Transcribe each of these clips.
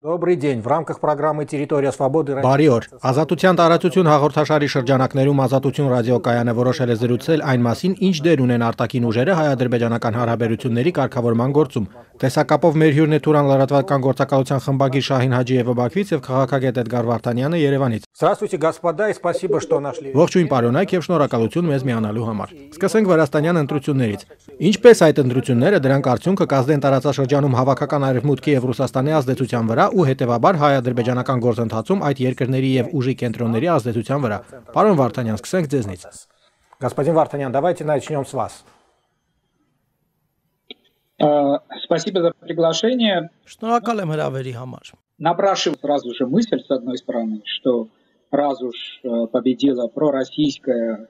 Добрый день. В рамках программы «Территория свободы» Բարի օր։ Ազատության տարածություն հաղորդաշարի շրջանակներում Ազատություն ռադիոկայանը որոշել է զրուցել այն մասին, ինչ դեր ունեն արտաքին ուժերը հայ-ադրբեջանական հարաբերությունների կարգավորման գործում։ Տեսակապով մեր հյուրն է Թուրան լրատվական գործակալության խմբագիր Շահին Հաջիևը Բաքվից եւ քաղաքագետ Էդգար Վարդանյանը Երևանից։ Здравствуйте, господа, и спасибо, что нашли. Ողջույն պարոնայք եւ շնորհակալություն մեզ միանալու համար։ Սկսենք Վրաստանյան ընտրություններից։ Ինչպես այդ ընտրությունները դրանք արդյունքը կազդեն տարածաշրջանում հավաքական արևմուտքի եւ Ռուսաստանի ազդեցության վրա ու հետեւաբար հայ-ադրբեջանական գործընթացում այդ երկրների եւ ուժի կենտրոնների ազդեցության վրա։ Պարոն Վարդանյան, սկսենք ձեզնից։ Господин Вартанян, давайте начнем с вас. Спасибо за приглашение. Շնորհակալ եմ հրավերի համար։ Напрашивается сразу же мысль, с одной стороны, что раз уж победила пророссийская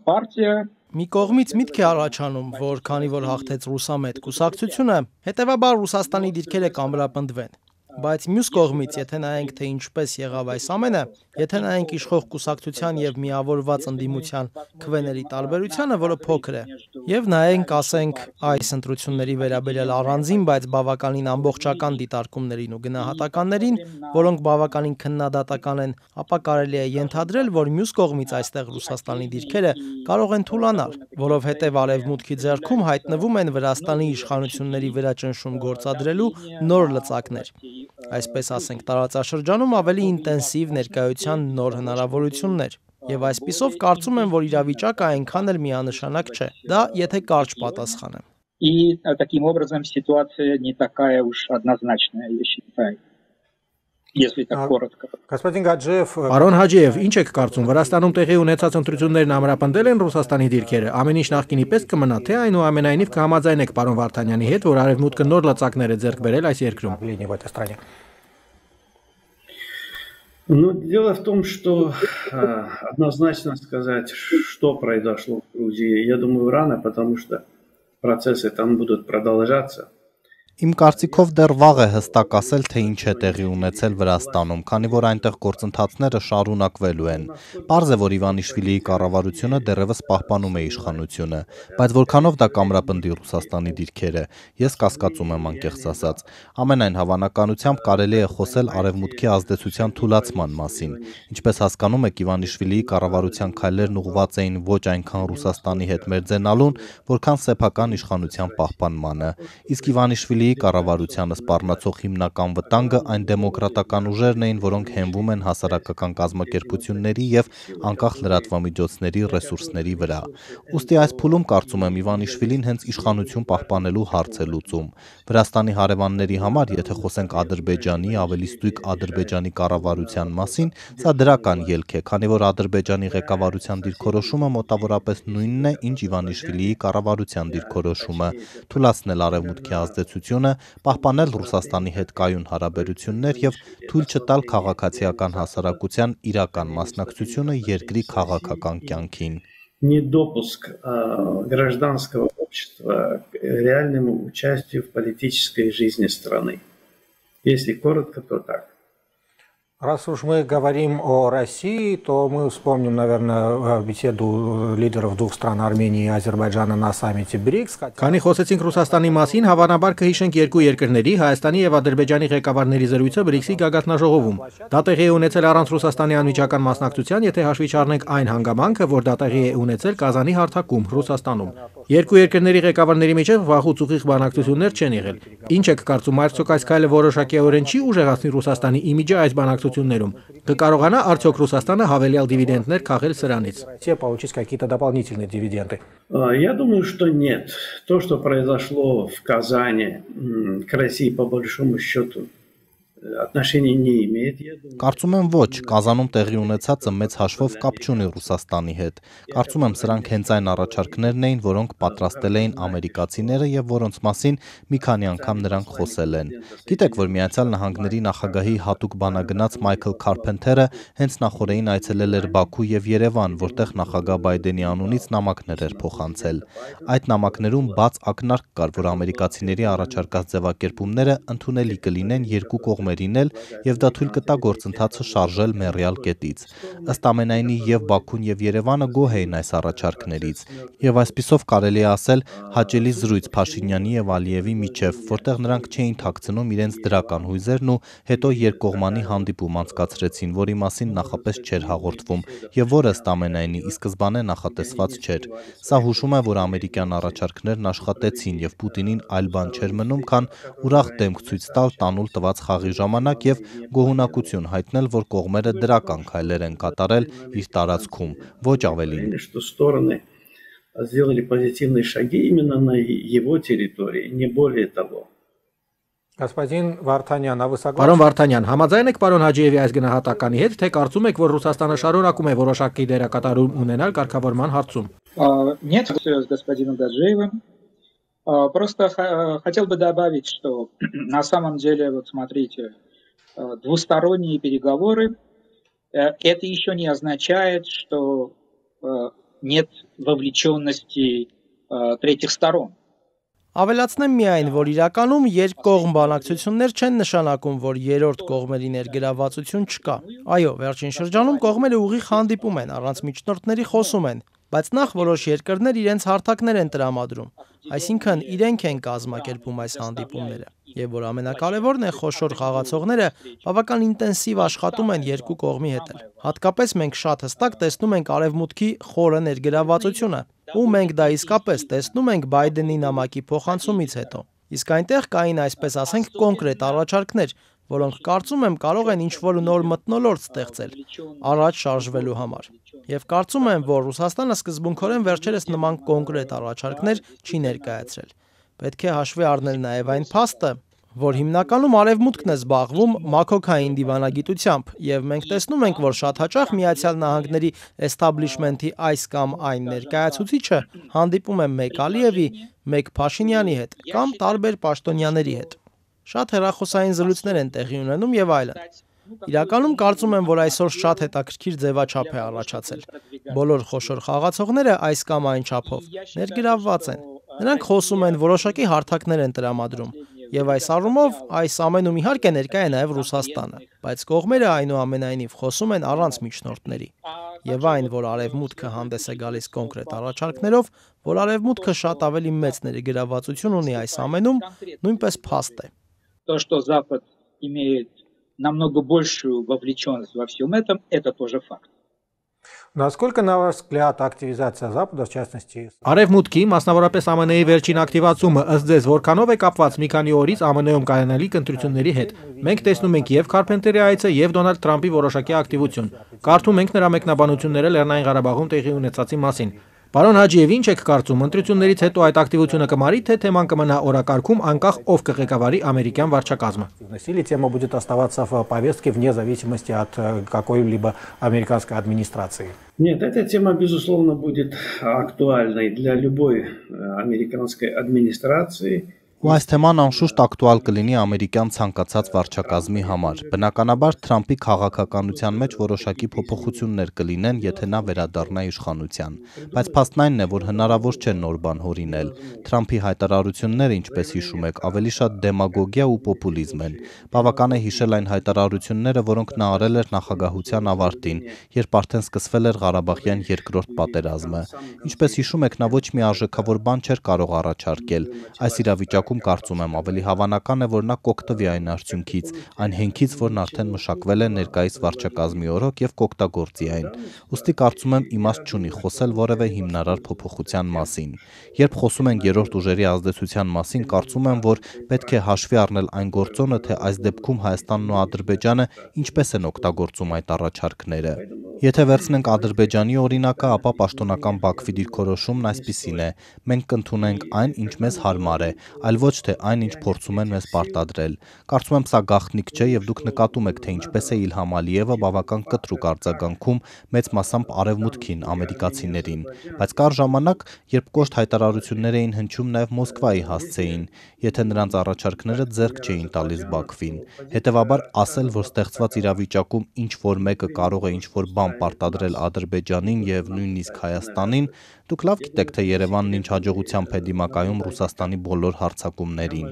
партия. Մի կողմից միտք է առաջանում, որ քանի որ հաղթեց ռուսամետ կուսակցությունը, հետևաբար Ռուսաստանի դիրքերը կամրապնդվեն։ Բայց մյուս կողմից, եթե նայենք թե ինչպես եղավ այս ամենը, եթե նայենք իշխող կուսակցության եւ միավորված ընդդիմության քվեների տարբերությանը, որը փոքր է, եւ նայենք, ասենք, այս ընտրությունների վերաբերյալ առանձին, բայց բավականին ամբողջական դիտարկումներին ու գնահատականներին, որոնք բավականին քննադատական են, ապա կարելի է ենթադրել, որ մյուս կողմից այստեղ Ռուսաստանի դիրքերը կարող են թուլանալ, որովհետեւ արևմուտքի ձեռքում հայտնվում են Վրաստանի իշխանությունների վրա ճնշում գործադրելու նոր լծակներ։ Այսպես ասենք, տարածաշրջանում ավելի ինտենսիվ ներկայության նոր հնարավորություններ։ Եվ այսպիսով կարծում եմ, որ իրավիճակը այնքան էլ միանշանակ չէ։ Դա եթե կարճ պատասխանեմ։ И таким образом ситуация не такая уж однозначная, я считаю. Если так коротко. Господин Гаджиев, Պարոն Հաջիև, ինչ եք կարծում, Վրաստանում տեղի ունեցած ընտրություններն ամրապնդել են Ռուսաստանի դիրքերը։ Ամեն ինչ նախկինի պես կմնա, թե այնուամենայնիվ կհամաձայնեք պարոն Վարդանյանի հետ, որ արևմուտքը նոր լծակներ է ձեռք բերել այս երկրում։ в этой стране. Ну, дело в том, что однозначно сказать, что произошло в Грузии, я думаю, рано, потому что процессы там будут продолжаться. Իմ կարծիքով դեռ վաղ է հստակ ասել, թե ինչ է տեղի ունեցել Վրաստանում, քանի որ այնտեղ գործընթացները շարունակվելու են։ Պարզ է, որ Իվանիշվիլիի կառավարությունը դեռևս պահպանում է իշխանությունը, բայց որքանով դա կամրապնդի Ռուսաստանի դիրքերը, ես կասկածում եմ անկեղծ ասած։ Ամենայն հավանականությամբ կարելի է խոսել արևմուտքի ազդեցության թուլացման մասին։ Ինչպես հասկանում եք, Իվանիշվիլիի կառավարության քայլերն ուղղված էին ոչ այնքան Ռուսաստանի հետ մերձենալուն, որքան սեփական իշխանության պահպանմանը։ Իսկ Իվանիշվիլի կառավարությանը սպառնացող հիմնական վտանգը այն դեմոկրատական ուժերն էին, որոնք հենվում են հասարակական կազմակերպությունների եւ անկախ լրատվամիջոցների ռեսուրսների վրա։ Ուստի այս փուլում կարծում եմ Իվանիշվիլին հենց իշխանություն պահպանելու հարց է լուծում։ Վրաստանի հարևանների համար, եթե խոսենք Ադրբեջանի, ավելի ստույգ Ադրբեջանի կառավարության մասին, սա դրական ելք է, քանի որ Ադրբեջանի ղեկավարության դիրքորոշումը մոտավորապես նույնն է, ինչ Իվանիշվիլիի կառավարության դիրքորոշումը՝ թույլատրել արևմուտքի ազդեցությունը, պահպանել Ռուսաստանի հետ կայուն հարաբերություններ եւ թույլ չտալ քաղաքացիական հասարակության իրական մասնակցությունը երկրի քաղաքական կյանքին։ Недопуск гражданского общества к реальному участию в политической жизни страны. Если коротко, то так. Раз уж мы говорим о России, то мы вспомним, наверное, беседу лидеров двух стран, Армении и Азербайджана на саммите БРИКС. Քանի խոսեցինք Ռուսաստանի մասին, հավանաբար կհիշենք երկու երկրների, Հայաստանի եւ Ադրբեջանի ղեկավարների զրույցը ԲՐԻԿՍ-ի գագաթնաժողովում։ Դա տեղի է ունեցել առանց Ռուսաստանի անմիջական մասնակցության, եթե հաշվի չառնենք այն հանգամանքը, որ դա տեղի է ունեցել Կազանի հարթակում, Ռուսաստանում։ Երկու երկրների ղեկավարների միջև վաղուց ուղիղ բանակցություններ չեն եղել։ Ինչ եք կարծում, արդյոք այս քայլը որոշակիորեն չի ուժեղացնի Ռուսաստանի իմիջը այս բանակցություններում։ Կկարողանա արդյոք Ռուսաստանը հավելյալ դիվիդենդներ քաղել սրանից։ Получить какие-то дополнительные дивиденды. Я думаю, что нет. То, что произошло в Казани, к России по большому счету отношения не имеет. Կարծում եմ ոչ, Կազանում տեղի ունեցածը մեծ հաշվով կապ չունի Ռուսաստանի հետ։ Կարծում եմ սրանք հենց այն առաջարկներն էին, որոնք պատրաստել էին ամերիկացիները եւ որոնց մասին մի քանի անգամ նրանք խոսել են։ Գիտեք, որ Միացյալ Նահանգների նախագահի հատուկ բանագնաց Մայքլ Քարփենթերը հենց նախորդին այցելել էր Բաքու եւ Երևան, որտեղ նախագահ Բայդենի անունից նամակներ էր փոխանցել։ Այդ նամակներում բաց ակնարկ կար, որ ամերիկացիների առաջարկած ձևակերպումները ընդունելի կլինեն երկու կողմերի կողմերին էլ եւ դա թույլ կտա գործընթացը շարժել մեռյալ կետից։ Ըստ ամենայնի եւ Բաքուն եւ Երևանը գոհ էին այս առաջարկներից եւ այսպիսով կարելի է ասել հաճելի զրույց Փաշինյանի եւ Ալիևի միջեւ, որտեղ նրանք չէին թաքցնում իրենց դրական հույզերն ու հետո երկկողմանի հանդիպում անցկացրեցին, որի մասին նախապես չէր հաղորդվում եւ որը ըստ ամենայնի ի սկզբանե նախատեսված չէր։ Սա հուշում է, որ ամերիկյան առաջարկներն աշխատեցին եւ Պուտինին այլ բան չէր մնում, քան ուրախ դեմք ցույց տալ տանուլ տված խաղի ժամանակ եւ գոհունակություն հայտնել, որ կողմերը դրական քայլեր են կատարել իր տարածքում, ոչ ավելին։ Сделали позитивные шаги именно на его территории, не более того. Господин Վարդանյան, а вы согласны? Պարոն Վարդանյան, համաձայն եք պարոն Հաջիևի այս գնահատականի հետ, թե կարծում եք, որ Ռուսաստանը շարունակում է որոշակի դերակատարում ունենալ կարգավորման հարցում։ Нет, с господином Гаджиевым. Просто хотел бы добавить, что на самом деле, вот смотрите, двусторонние переговоры, это еще не означает, что нет вовлеченности третьих сторон. Ավելացնեմ միայն, որ իրականում երկկողմ բանակցություններ չեն նշանակում, որ երրորդ կողմերի ներգրավվածություն չկա։ Այո, վերջին շրջանում կողմերը ուղիղ հանդիպում են, առանց միջնորդների խոսում են, բայց նախ որոշ երկրներ իրենց հարթակներ են տրամադրում, այսինքն իրենք են կազմակերպում այս հանդիպումները։ Եվ որ ամենակարևորն է, խոշոր խաղացողները բավական ինտենսիվ աշխատում են երկու կողմի հետ։ Հատկապես մենք շատ հստակ տեսնում ենք Արևմուտքի խորը ներգրավվածությունը, ու մենք դա իսկապես տեսնում ենք Բայդենի նամակի փոխանցումից հետո։ Իսկ այնտեղ կային, այսպես ասենք, կոնկրետ առաջարկներ, որոնք կարծում եմ կարող են ինչ-որ նոր մթնոլորտ ստեղծել առաջ շարժվելու համար։ Եվ կարծում եմ, որ Ռուսաստանը սկզբունքորեն վերջերս նման կոնկրետ առաջարկներ չի ներկայացրել։ Պետք է հաշվի առնել նաև այն փաստը, որ հիմնականում Արևմուտքն է զբաղվում մաքոքային դիվանագիտությամբ, եւ մենք տեսնում ենք, որ շատ հաճախ Միացյալ Նահանգների էստաբլիշմենթի այս կամ այն ներկայացուցիչը հանդիպում է մեկ Ալիևի, մեկ Փաշինյանի հետ կամ տարբեր պաշտոնյաների հետ։ Շատ հեռախոսային զրույցներ են տեղի ունենում եւ այլն։ Իրականում կարծում եմ, որ այսօր շատ հետաքրքիր ձևաչափ է առաջացել։ Բոլոր խոշոր խաղացողները այս կամ այն չափով ներգրավված են։ Նրանք խոսում են, որոշակի հարթակներ են տրամադրում, եւ այս առումով այս ամենում իհարկե ներկա է նաեւ Ռուսաստանը, բայց կողմերը այնուամենայնիվ խոսում են առանց միջնորդների։ Եվ այն, որ Արևմուտքը հանդես է գալիս կոնկրետ առաջարկներով, որ Արևմուտքը շատ ավելի մեծ ներգրավվածություն ունի այս ամենում, նույնպես փաստ է։ То, что Запад имеет намного большую вовлеченность во всем этом, это тоже факт. Насколько, на ваш взгляд, активизация Запада, в частности... Արևմուտքի, մասնավորապես ԱՄՆ-ի վերջին ակտիվացումը ըստ ձեզ որքանով է կապված մի քանի օրից ԱՄՆ-ում կայանալիք ընտրությունների հետ։ Մենք տեսնում ենք եւ Քարփենտերի այցը եւ Դոնալդ Թրամփի որոշակի ակտիվություն։ Կարդում ենք նրա մեկնաբանությունները Լեռնային Ղարաբաղում տեղի ունեցածի մասին։ Պարոն Հաջիև, ինչ եք կարծում, ընտրություններից հետո այդ ակտիվությունը կմարի, թե թեման կմնա օրակարգում, անկախ ով կղեկավարի ամերիկյան վարչակազմը։ Или тема будет оставаться в повестке вне зависимости от какой-либо американской администрации? Нет, эта тема, безусловно, будет актуальной для любой американской администрации. Ու այս թեման անշուշտ ակտուալ կլինի ամերիկյան ցանկացած վարչակազմի համար։ Բնականաբար Թրամփի քաղաքականության մեջ որոշակի փոփոխություններ կլինեն, եթե նա վերադառնա իշխանության։ Բայց փաստն այն է, որ հնարավոր չէ նոր բան հորինել։ Թրամփի հայտարարությունները, ինչպես հիշում եք, ավելի շատ դեմագոգիա ու պոպուլիզմ են։ Բավական է հիշել այն հայտարարությունները, որոնք նա արել էր նախագահության ավարտին, երբ արդեն սկսվել էր Ղարաբաղյան երկրորդ պատերազմը։ Ինչպես հիշում եք, նա ոչ մի արժեքավոր բան չէր կարող առաջարկել։ Այս իրավիճակում կարծում եմ ավելի հավանական է, որ նա կօգտվի այն արդյունքից, այն հենքից, որն արդեն մշակվել է ներկայիս վարչակազմի օրոք եւ կօգտագործի այն։ Ուստի կարծում եմ իմաստ չունի խոսել որևէ հիմնարար փոփոխության մասին։ Երբ խոսում ենք երրորդ ուժերի ազդեցության մասին, կարծում եմ, որ պետք է հաշվի առնել այն գործոնը, թե այս դեպքում Հայաստանն ու Ադրբեջանը ինչպես են օգտագործում այդ առաջարկները։ Եթե վերցնենք Ադրբեջանի օրինակը, ապա պաշտոնական Բաքվի դիրքորոշումն այսպիսին է. մենք կընդունենք այն, ինչ մեզ հարմար է, այլ ոչ թե այն, ինչ փորձում են մեզ պարտադրել։ Կարծում եմ սա գաղտնիք չէ եւ դուք նկատում եք, թե ինչպես է Իլհամ Ալիևը բավական կտրուկ արձագանքում մեծ մասամբ արևմուտքին, ամերիկացիներին։ Բայց կար ժամանակ, երբ կոշտ հայտարարություններ էին հնչում նաեւ Մոսկվայի հասցեին, եթե նրանց առաջարկները ձեռք չէին տալիս Բաքվին։ Հետևաբար ասել, որ ստեղծված իրավիճակում ինչ որ մեկը կարող է ինչ որ բան պարտադրել Ադրբեջանին եւ նույնիսկ Հայաստանին, Դուք լավ գիտեք, թե Երևանն ինչ հաջողությամբ է դիմակայում Ռուսաստանի բոլոր հարձակումներին։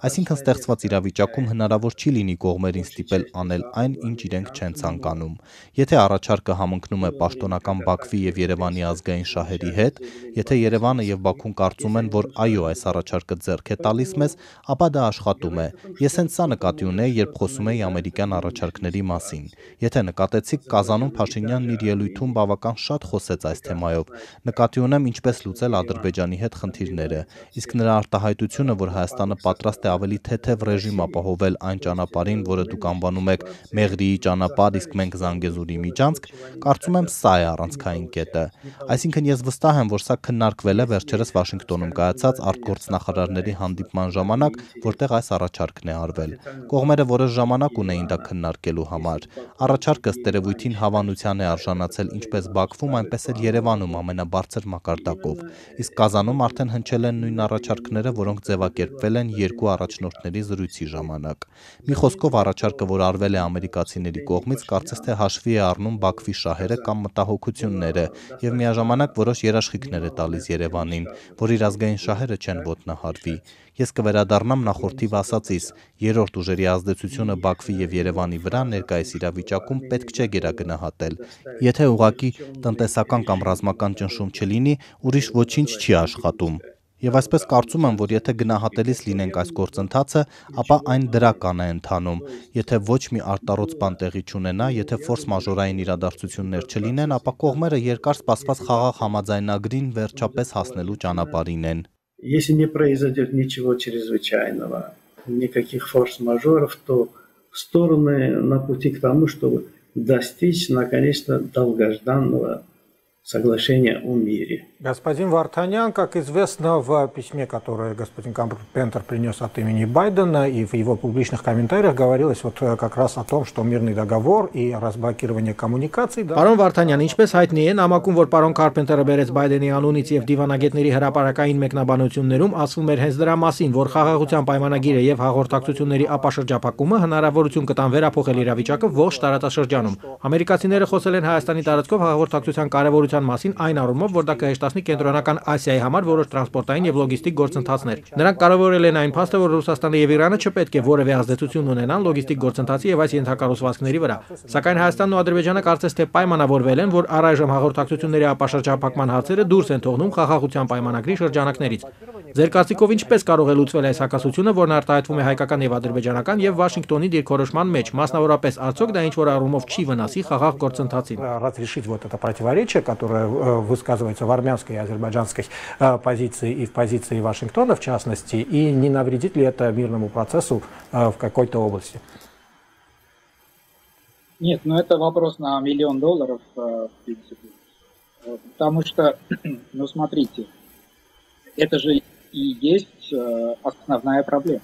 Այսինքն ստեղծված իրավիճակում հնարավոր չի լինի կողմերին ստիպել անել այն, ինչ իրենք չեն ցանկանում։ Եթե առաջարկը համընկնում է պաշտոնական Բաքվի եւ Երևանի ազգային շահերի հետ, եթե Երևանը եւ Բաքուն կարծում են, որ այո, այս առաջարկը ձեռք է տալիս մեզ, ապա դա աշխատում է։ Ես հենց սա նկատի ունեի, երբ խոսում էի ամերիկյան առաջարկների մասին։ Եթե նկատեցիք, Կազանում Փաշինյանն իր ելույթում բավական շատ խոսեց այս թեմայով։ Նկատի ունեմ ինչպես լուծել Ադրբեջանի հետ խնդիրները, իսկ նրա արտահայտությունը, որ Հայաստանը պատրաստ է ավելի թեթև ռեժիմ ապահովել այն ճանապարհին, որը դուք անվանում եք Մեղրիի ճանապարհ, իսկ մենք Զանգեզուրի միջանցք, կարծում եմ սա է առանցքային կետը։ Այսինքն ես վստահ եմ, որ սա քննարկվել է վերջերս Վաշինգտոնում կայացած արտգործնախարարների հանդիպման ժամանակ, որտեղ այս առաջարկն է արվել։ Կողմերը որոշ ժամանակ ունեին դա քննարկելու համար։ Առաջարկը ըստ երևույթին հավանության է արժանացել ինչպես Բաքվում, այնպես էլ Երևանում ամենաբարձր մակարդակով, իսկ Կազանում արդեն հնչել են նույն առաջարկները, որոնք ձևակերպվել են երկու առաջնորդների զրույցի ժամանակ։ Մի խոսքով առաջարկը, որ արվել է ամերիկացիների կողմից, կարծես թե հաշվի է առնում Բաքվի շահերը կամ մտահոգությունները եւ միաժամանակ որոշ երաշխիքներ է տալիս Երևանին, որ իր ազգային շահերը չեն ոտնահարվի։ Ես կվերադառնամ նախորդիվ ասածիս, երրորդ ուժերի ազդեցությունը Բաքվի եւ Երևանի վրա ներկայիս իրավիճակում պետք չէ գերագնահատել։ Եթե ուղղակի տնտեսական կամ ռազմական ճնշում չլինի, ուրիշ ոչինչ չի աշխատում։ Եվ այսպես կարծում եմ, որ եթե գնահատելիս լինենք այս գործընթացը, ապա այն դրական է ընթանում։ Եթե ոչ մի արտառոց բան տեղի չունենա, եթե ֆորս մաժորային իրադարձություններ չլինեն, ապա կողմերը երկար սպասված խաղաղ համաձայնագրին վերջապես հասնելու ճանապարհին են։ Если не произойдет ничего чрезвычайного, никаких форс-мажоров, то стороны на пути к тому, чтобы достичь, наконец-то, долгожданного соглашения о мире. Господин Вартанян, как известно, в письме, которое господин Карпентер принес от имени Байдена, и в его публичных комментариях говорилось вот как раз о том, что мирный договор и разблокирование коммуникаций... Պարոն Վարդանյան, ինչպես հայտնի է, նամակում, որ պարոն Կարպենտերը բերեց Բայդենի անունից եւ դիվանագետների հրապարակային մեկնաբանություններում, ասվում էր հենց դրա մասին, որ խաղաղության պայմանագիրը եւ հաղորդակցությունների ապաշրջափակումը հնարավորություն կտան վերափոխել իրավիճակը ողջ տարածաշրջանում։ Ամերիկացիները խոսել են Հայաստանի տարածքով հաղորդակցության կարևորության մասին այն առումով, որ դա կհեշտացնի Կենտրոնական Ասիայի համար որոշ տրանսպորտային եւ լոգիստիկ գործընթացներ։ Նրանք կարևորել են այն փաստը, որ Ռուսաստանը եւ Իրանը չպետք է որևէ ազդեցություն ունենան լոգիստիկ գործընթացի եւ այս ենթակառուցվածքների վրա։ Սակայն Հայաստանն ու Ադրբեջանը կարծես թե պայմանավորվել են, որ առայժմ հաղորդակցությունների ապաշրջափակման հարցերը դուրս են թողնում խաղաղության պայմանագրի շրջանակներից։ Ձեր կարծիքով ինչպես կարող է լուծվել այս հակասությունը, որն արտահայտվում է հայկական եւ ադրբեջանական եւ Վաշինգտոնի դիրքորոշման մեջ, մասնավորապես արդյոք դա ինչ որ առումով չի выносի խաղաղ գործընթացին։ Разрешить вот это противоречие, которое высказывается в армянской и азербайджанской позиции и в позиции Вашингтона, в частности, и не навредит ли это мирному процессу в какой-то области? Нет, ну это вопрос на $1 миллион, в принципе. Потому что, ну смотрите, это же и есть основная проблема.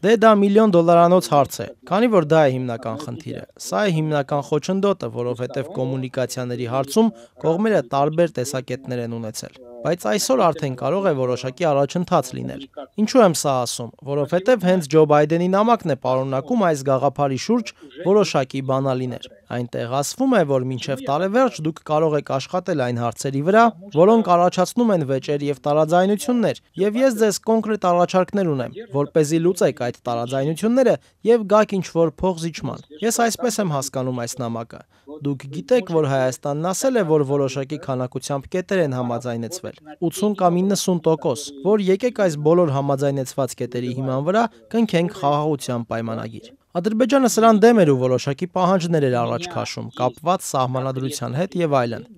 Դե դա $1 միլիոն հարց է, քանի որ դա է հիմնական խնդիրը։ Սա է հիմնական խոչընդոտը, որովհետև կոմունիկացիաների հարցում կողմերը տարբեր տեսակետներ են ունեցել։ Բայց այսօր արդեն կարող է որոշակի առաջընթաց լինել։ Ինչու եմ սա ասում, որովհետև հենց Ջո Բայդենի նամակն է պարունակում այս գաղափարի շուրջ որոշակի բանալիներ։ Այնտեղ ասվում է, որ մինչև տարեվերջ դուք կարող եք աշխատել այն հարցերի վրա, որոնք առաջացնում են վեճեր եւ տարաձայնություններ, եւ ես ձեզ կոնկրետ առաջարկներ ունեմ, որպեսզի լուծեք այդ տարաձայնությունները եւ գաք ինչ-որ փոխզիջման։ Ես այսպես եմ հասկանում այս նամակը։ Դուք գիտեք, որ Հայաստանն ասել է, որ որոշակի քանակությամբ կետեր են համաձայնեցվել, 80 կամ 90%, որ եկեք այս բոլոր համաձայնեցված կետերի հիման վրա կնքենք խաղաղության պայմանագիր։ Ադրբեջանը սրան դեմ էր ու որոշակի պահանջներ էր առաջ քաշում, կապված սահմանադրության հետ եւ այլն։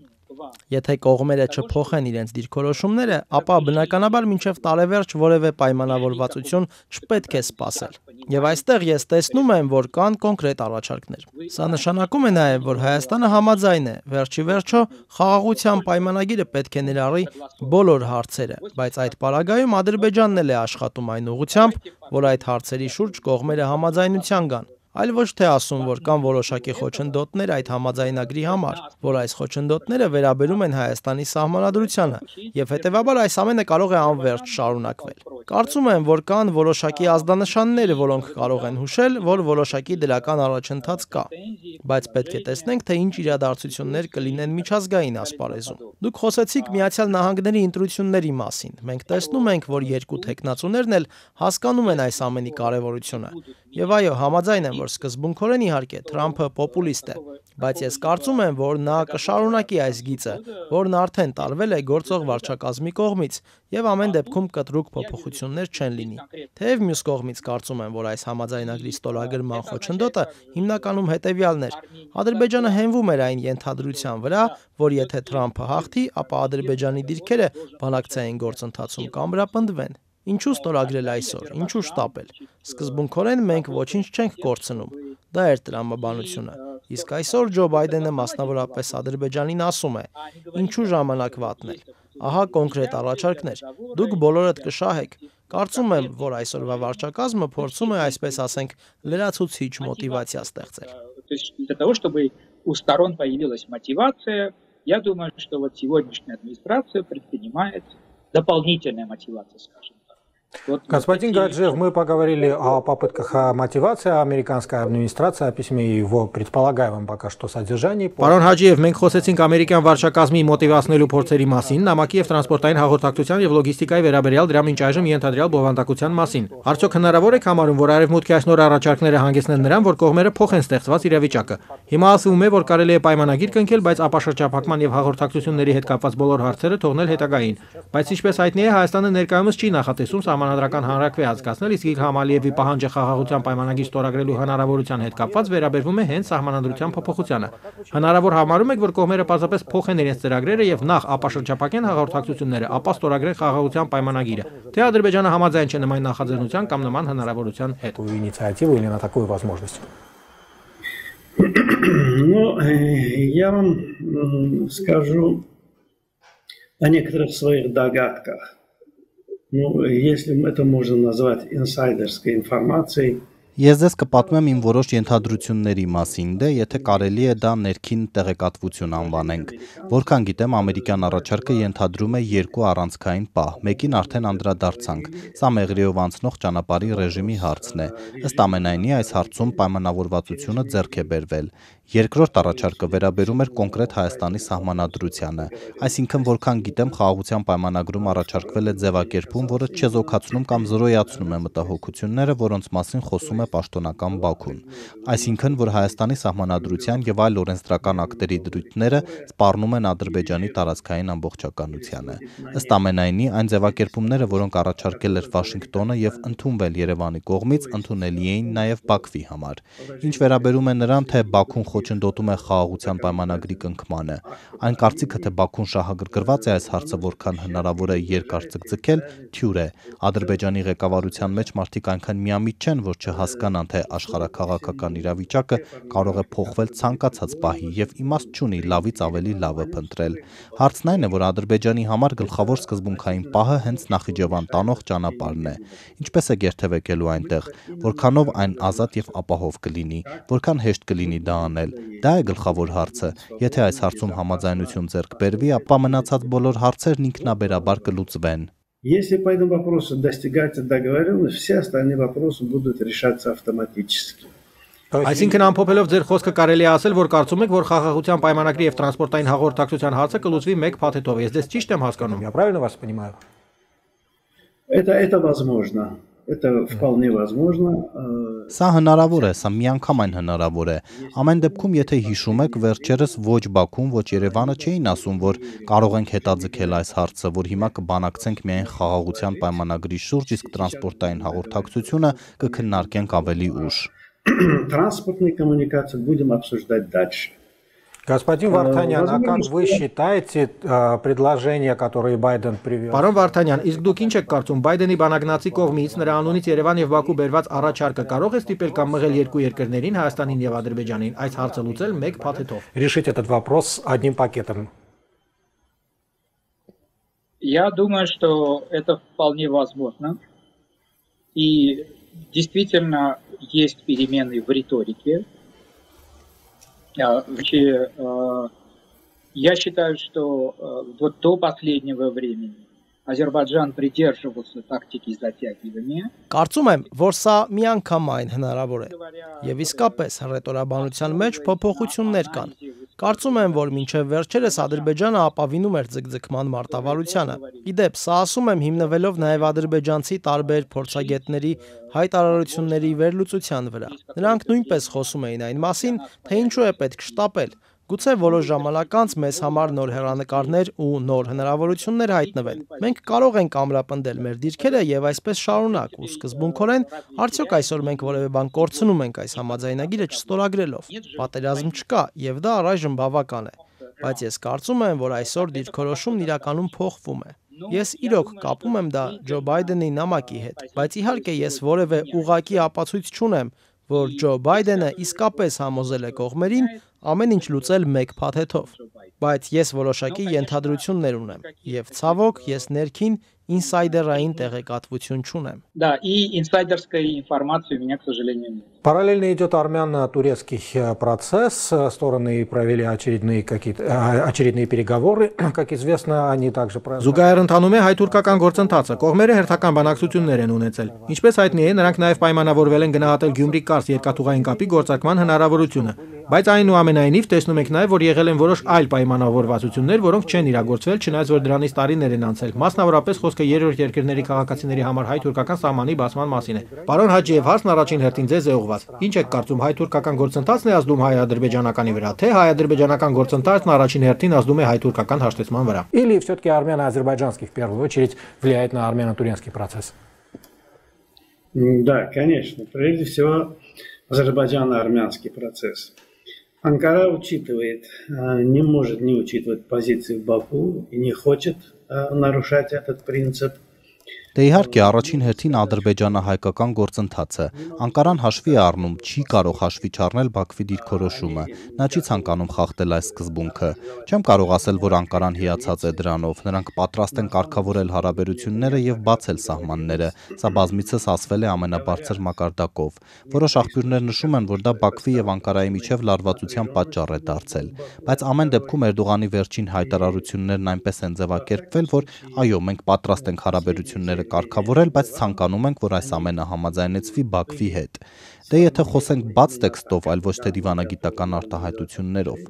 Եթե կողմերը չփոխեն իրենց դիրքորոշումները, ապա բնականաբար մինչև տարեվերջ որևէ պայմանավորվածություն չպետք է սպասել։ Եվ այստեղ ես տեսնում եմ, որ կան կոնկրետ առաջարկներ։ Սա նշանակում է նաև, որ Հայաստանը համաձայն է, վերջի վերջո խաղաղության պայմանագիրը պետք է ներառի բոլոր հարցերը, բայց այդ պարագայում Ադրբեջանն էլ է աշխատում այն ուղղությամբ, որ այդ հարցերի շուրջ կողմերը համաձայնության գան։ այլ ոչ թե ասում, որ կան որոշակի խոչընդոտներ այդ համաձայնագրի համար, որ այս խոչընդոտները վերաբերում են Հայաստանի սահմանադրությանը, եւ հետեւաբար այս ամենը կարող է անվերջ շարունակվել։ Կարծում եմ, որ կան որոշակի ազդանշաններ, որոնք կարող են հուշել, որ որոշակի դրական առաջընթաց կա, բայց պետք է տեսնենք, թե ինչ իրադարձություններ կլինեն միջազգային ասպարեզում։ Դուք խոսեցիք Միացյալ Նահանգների ընտրությունների մասին։ Մենք տեսնում ենք, որ երկու տեխնացուներն էլ հասկանում են այս ամենի կարևորությունը։ Եվ այո, համաձայն եմ, որ սկզբունքորեն իհարկե Թրամփը պոպուլիստ է, բայց ես կարծում եմ, որ նա կշարունակի այս գիծը, որն արդեն տարվել է գործող վարչակազմի կողմից, եւ ամեն դեպքում կտրուկ փոփոխություններ չեն լինի։ Թեև մյուս կողմից կարծում եմ, որ այս համաձայնագրի ստորագրման խոչընդոտը հիմնականում հետեւյալն էր. Ադրբեջանը հենվում էր այն ենթադրության վրա, որ եթե Թրամփը հաղթի, ապա Ադրբեջանի դիրքերը բանակցային գործընթացում կամրապնդվեն։ Ինչու ստորագրել այսօր, ինչու շտապել։ Սկզբունքորեն մենք ոչինչ չենք կորցնում։ Դա էր տրամաբանությունը։ Իսկ այսօր Ջո Բայդենը մասնավորապես Ադրբեջանին ասում է. ինչու ժամանակ վատնել։ Ահա կոնկրետ առաջարկներ։ Դուք բոլորդ կշահեք։ Կարծում եմ, որ այսօրվա վարչակազմը փորձում է, այսպես ասենք, լրացուցիչ մոտիվացիա ստեղծել։ Для того, чтобы у сторон появилась мотивация, я думаю, что вот сегодняшняя администрация предпринимает дополнительная мотивация, скажем так. Господин Гаджиев, мы поговорили о попытках мотивации американской администрации, о письме и его предполагаемом пока что содержании. Պարոն Հաջիև, մենք խոսեցինք ամերիկյան վարչակազմի մոտիվացնելու փորձերի մասին, նամակի եւ տրանսպորտային հաղորդակցության եւ լոգիստիկայի վերաբերյալ դրա մինչ այժմ ենթադրյալ բովանդակության մասին։ Արդյոք հնարավոր է համարում, որ արևմուտքի այս նոր առաջարկները հանգեցնեն նրան, որ կողմերը փոխեն ստեղծված իրավիճակը։ Հիմա ասվում է, որ կարելի է պայմանագիր կնքել, բայց ապաշրջափակման եւ հաղորդակցությունների հետ կապված բոլոր հարցերը թողնել հետագային։ Բայց ինչպես հայտնի է, Հայաստանը ներկայումս չի նախատեսում Սահմանադրական հանրակրվե անցկացնել, իսկ Իլհամ Ալիևի պահանջը խաղաղության պայմանագիր ստորագրելու հնարավորության հետ կապված վերաբերվում է հենց սահմանադրության փոփոխությանը։ Հնարավոր համարում եք, որ կողմերը պարզապես փոխեն իրենց ծրագրերը եւ նախ ապաշրջափակեն հաղորդակցությունները, ապա ստորագրեն խաղաղության պայմանագիրը։ Թե Ադրբեջանը համաձայն չէ նման նախաձեռնության կամ նման հնարավորության հետ։ Инициативу или на такую возможность? Ну, я вам скажу о некоторых своих догадках. Ну, если это можно назвать инсайдерской информацией. Ես ձեզ կպատմեմ իմ որոշ ենթադրությունների մասին, դե եթե կարելի է դա ներքին տեղեկատվություն անվանենք։ Որքան գիտեմ, ամերիկյան առաջարկը ենթադրում է երկու առանցքային պահ, մեկին արդեն անդրադարձանք։ Սա Մեղրիով անցնող ճանապարհի ռեժիմի հարցն է։ Ըստ ամենայնի այս հարցում պայմանավորվածությունը ձեռք է բերվել։ Երկրորդ առաջարկը վերաբերում էր կոնկրետ Հայաստանի սահմանադրությանը, այսինքն որքան գիտեմ, խաղաղության պայմանագրում առաջարկվել է ձևակերպում, որը չեզոքացնում կամ զրոյացնում է մտահոգությունները, որոնց մասին խոսում է պաշտոնական Բաքուն, այսինքն որ Հայաստանի սահմանադրության եւ այլ օրենսդրական ակտերի դրույթները սպառնում են Ադրբեջանի տարածքային ամբողջականությանը։ Ըստ ամենայնի, այն ձևակերպումները, որոնք առաջարկել էր Վաշինգտոնը եւ ընդունվել Երևանի կողմից, ընդունելի էին նաեւ Բաքվի համար։ Ինչ վերաբերում է նրան, թե Բաքուն խոչընդոտում է խաղաղության պայմանագրի կնքմանը, այն կարծիքը, թե Բաքուն շահագրգռված է այս հարցը որքան հնարավոր է երկար ցկցկել, թյուր է։ Ադրբեջանի ղեկավարության մեջ մարդիկ այնքան միամիտ չեն, որ չհասկանան, թե աշխարհաքաղաքական իրավիճակը կարող է փոխվել ցանկացած պահի եւ իմաստ չունի լավից ավելի լավը փնտրել։ Հարցն այն է, որ Ադրբեջանի համար գլխավոր սկզբունքային պահը հենց Նախիջևան տանող ճանապարհն է։ Ինչպես է գերթևեկելու այնտեղ, որքանով այն ազատ եւ ապահով կլինի, որքան հեշտ կլինի դա անել։ Դա է գլխավոր հարցը։ Եթե այս հարցում համաձայնություն ձեռք բերվի, ապա մնացած բոլոր հարցերն ինքնաբերաբար կլուծվեն։ Если по этому вопросу достигается договоренность, все остальные вопросы будут решаться автоматически. Այսինքն ամփոփելով ձեր խոսքը կարելի է ասել, որ կարծում եք, որ խաղաղության պայմանագրի եւ տրանսպորտային հաղորդակցության հարցը կլուծվի մեկ փաթեթով։ Ես դες ճիշտ եմ հասկանում։ Я правильно вас понимаю? Это возможно. Это вполне возможно. Սա հնարավոր է, սա միանգամայն հնարավոր է։ Ամեն դեպքում, եթե հիշում եք, վերջերս ոչ Բաքուն, ոչ Երևանը չէին ասում, որ կարող ենք հետաձգել այս հարցը, որ հիմա կբանակցենք միայն խաղաղության պայմանագրի շուրջ, իսկ տրանսպորտային հաղորդակցությունը կքննարկենք ավելի ուշ։ Транспортные коммуникации будем обсуждать дальше. Господин Вартанян, а как вы считаете предложения, которые Байден привел? Պարոն Վարդանյան, իսկ դուք ինչ եք կարծում, Բայդենի բանագնացի կողմից նրա անունից Երևան եւ Բաքու բերված առաջարկը կարող է ստիպել կամ մղել երկու երկրներին, Հայաստանին եւ Ադրբեջանին, այս հարցը լուծել մեկ փաթեթով։ Решить этот вопрос одним пакетом? Я думаю, что это вполне возможно. И действительно есть перемены в риторике. Я считаю, что вот до последнего времени Ադրբեջան придерживался տակտիկի затягивания. Կարծում եմ, որ սա միանգամայն հնարավոր է։ Եվ իսկապես հռետորաբանության մեջ փոփոխություններ կան։ Կարծում եմ, որ մինչև վերջերս Ադրբեջանը ապավինում էր ձգձգման մարտավարությանը։ Իդեպ, սա ասում եմ հիմնվելով նաև ադրբեջանցի տարբեր փորձագետների հայտարարությունների վերլուծության վրա։ Նրանք նույնպես խոսում էին այն մասին, թե ինչու է պետք շտապել։ Գուցե որոշ ժամանակ անց մեզ համար նոր հեռանկարներ ու նոր հնարավորություններ հայտնվեն։ Մենք կարող ենք ամրապնդել մեր դիրքերը եւ այսպես շարունակ ու սկզբունքորեն արդյոք այսօր մենք որևէ բան կորցնում ենք այս համաձայնագիրը չստորագրելով։ Պատերազմ չկա եւ դա առայժմ բավական է։ Բայց ես կարծում եմ, որ այսօր դիրքորոշումն իրականում փոխվում է։ Ես իրոք կապում եմ դա Ջո Բայդենի նամակի հետ, բայց իհարկե ես որևէ ուղղակի ապացույց չունեմ, որ Ջո Բայդենը իսկապես համոզել է կողմերին ամեն ինչ լուծել մեկ փաթեթով, բայց ես որոշակի ենթադրություններ ունեմ եւ ցավոք ես ներքին ինսայդերային տեղեկատվություն չունեմ։ Да, и инсайдерской информации у меня, к сожалению, нет. Параллельно идет армяно-турецкий процесс. Стороны провели очередные переговоры. Как известно, они также... Զուգահեռ ընթանում է հայ-թուրքական գործընթացը։ Կողմերը հերթական բանակցություններ են ունեցել։ Ինչպես հայտնի է, նրանք նաև պայմանավորվել են գնահատել Գյումրի-Կարս երկաթուղային կապի գործարկման հնարավորությունը։ Բայց այնուամենայնիվ տեսնում եք նաև, որ եղել են որոշ այլ պայմանավորվածություններ, որոնք չեն իրագործվել, չնայած որ դրանից տարիներ են անցել։ Մասնավորապես խոսքը երրորդ երկրների քաղաքացիների համար հայ-թուրքական սահմանի բացման մասին է։ Պարոն Հաջիև, հարցն առաջին հերթին ձեզ է ուղղված։ Ինչ եք կարծում, հայ-թուրքական գործընթացն է ազդում հայ-ադրբեջանականի վրա, թե հայ-ադրբեջանական գործընթացն առաջին հերթին ազդում է հայ-թուրքական հաշտեցման վրա։ Или все-таки армяно-азербайджанский в первую очередь влияет на армяно-турецкий процесс? Да, конечно. Прежде всего, азербайджано-армянский процесс. Анкара учитывает, не может не учитывать позиции в Баку и не хочет нарушать этот принцип. Դե իհարկե առաջին հերթին Ադրբեջանը հայկական գործընթացը Անկարան հաշվի է առնում, չի կարող հաշվի չառնել Բաքվի դիրքորոշումը, նա չի ցանկանում խախտել այս սկզբունքը։ Չեմ կարող ասել, որ Անկարան հիացած է դրանով, նրանք պատրաստ են կարգավորել հարաբերությունները եւ բացել սահմանները, սա բազմիցս ասվել է ամենաբարձր մակարդակով։ Որոշ աղբյուրներ նշում են, որ դա Բաքվի եւ Անկարայի միջև լարվածության պատճառ է դարձել, բայց ամեն դեպքում Էրդողանի վերջին հայտարարություններն այնպես են ձևակերպվել, որ այո, մենք պատրաստ ենք հարաբերությունները կարգավորել, բայց ցանկանում ենք, որ այս ամենը համաձայնեցվի Բաքվի հետ։ Դե եթե խոսենք բաց տեքստով, այլ ոչ թե դիվանագիտական արտահայտություններով,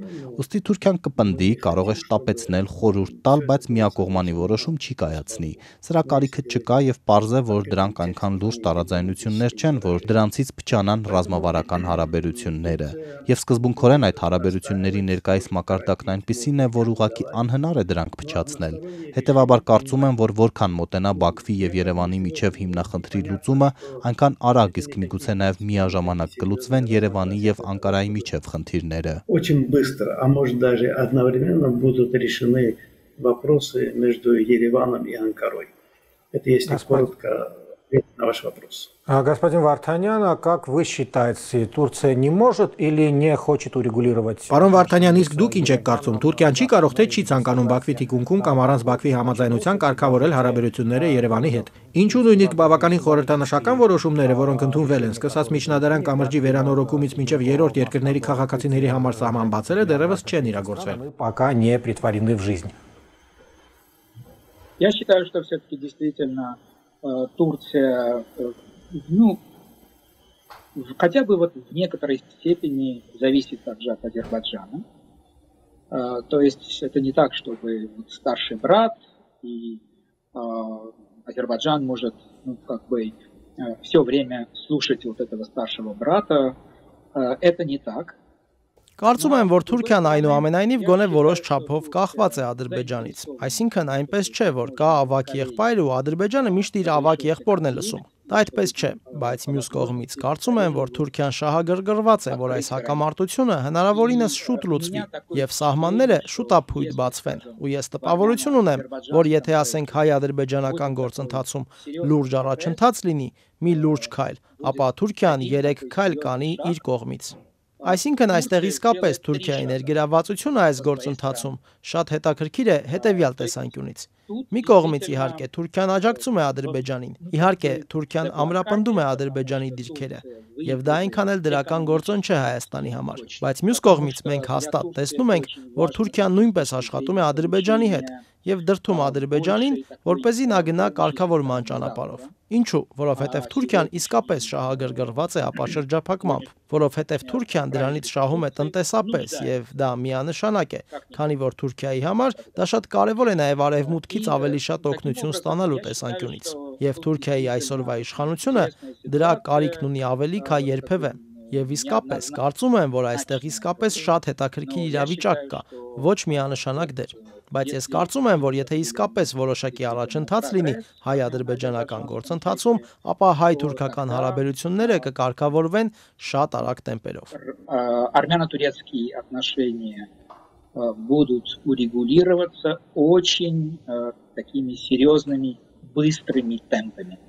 ուստի Թուրքիան կպնդի, կարող է շտապեցնել, խորհուրդ տալ, բայց միակողմանի որոշում չի կայացնի։ Սրա կարիքը չկա եւ պարզ է, որ դրանք այնքան լուրջ տարաձայնություններ չեն, որ դրանցից փչանան ռազմավարական հարաբերությունները։ Եվ սկզբունքորեն այդ հարաբերությունների ներկայիս մակարդակն այնպիսին է, որ ուղղակի անհնար է դրանք փչացնել։ Հետևաբար կարծում եմ, որ որքան մոտենա Բաքվի եւ Երևանի միջև հիմնախնդրի լուծումը, այնքան արագ, իսկ միգուցե նաեւ միաժամանակ կլուծվեն Երևանի եւ Անկարայի միջև խնդիրները։ Очень быстро, а может даже одновременно будут решены вопросы между Ереваном и Анкарой. Это если коротко на ваш вопрос. Господин Вартанян, а как вы считаете, Турция не может или не хочет урегулировать? Պարոն Վարդանյան, իսկ դուք ինչ եք կարծում, Թուրքիան չի կարող թե չի ցանկանում Բաքվի թիկունքում կամ առանց Բաքվի համաձայնության կարգավորել հարաբերությունները Երևանի հետ։ Ինչու նույնիսկ բավականին խորհրդանշական որոշումները, որոնք ընդունվել են, սկսած միջնադարյան կամրջի վերանորոգումից մինչև երրորդ երկրների քաղաքացիների համար սահման բացելը դեռևս չեն իրագործվել։ Пока не претворены в жизнь. Я считаю, что все-таки действительно Турция, ну, хотя бы вот в некоторой степени зависит также от Азербайджана. То есть это не так, чтобы старший брат и Азербайджан может, ну, как бы все время слушать вот этого старшего брата. Это не так. Կարծում եմ, որ Թուրքիան այնուամենայնիվ գոնե որոշ չափով կախված է Ադրբեջանից։ Այսինքն այնպես չէ, որ կա ավագ եղբայր ու Ադրբեջանը միշտ իր ավագ եղբորն է լսում։ Դա այդպես չէ, բայց մյուս կողմից կարծում եմ, որ Թուրքիան շահագրգռված է, որ այս հակամարտությունը հնարավորինս շուտ լուծվի եւ սահմանները շուտապույտ բացվեն։ Ու ես տպավորություն ունեմ, որ եթե ասենք հայ-ադրբեջանական գործընթացում լուրջ առաջընթաց լինի, մի լուրջ քայլ, ապա Թուրքիան 3 քայլ կանի իր կողմից։ Այսինքն այստեղ իսկապես Թուրքիայի ներգրավվածությունը այս գործընթացում շատ հետաքրքիր է հետևյալ տեսանկյունից։ Մի կողմից իհարկե Թուրքիան աջակցում է Ադրբեջանին, իհարկե Թուրքիան ամրապնդում է Ադրբեջանի դիրքերը, եւ դա այնքան էլ դրական գործոն չէ Հայաստանի համար, բայց մյուս կողմից մենք հաստատ տեսնում ենք, որ Թուրքիան նույնպես աշխատում է Ադրբեջանի հետ եւ դրդում Ադրբեջանին, որպեսզի նա գնա կարգավորման ճանապարհով։ Ինչու՞, որովհետեւ Թուրքիան իսկապես շահագրգռված է ապաշրջափակմամբ, որովհետեւ Թուրքիան դրանից շահում է տնտեսապես եւ դա միանշանակ է, քանի որ Թուրքիայի համար դա շատ կարեւոր է նաեւ արևմուտքից ավելի շատ օգնություն ստանալու տեսանկյունից։ Եվ Թուրքիայի այսօրվա իշխանությունը դրա կարիքն ունի ավելի քան երբևէ։ Եվ իսկապես կարծում եմ, որ այստեղ իսկապես շատ հետաքրքիր իրավիճակ կա, ոչ միանշանակ դեր։ Բայց ես կարծում եմ, որ եթե իսկապես որոշակի առաջընթաց լինի հայ-ադրբեջանական գործընթացում, ապա հայ-թուրքական հարաբերությունները կկարգավորվեն շատ արագ տեմպերով։ Армяно-турецкие отношения будут урегулироваться очень такими серьезными, быстрыми темпами.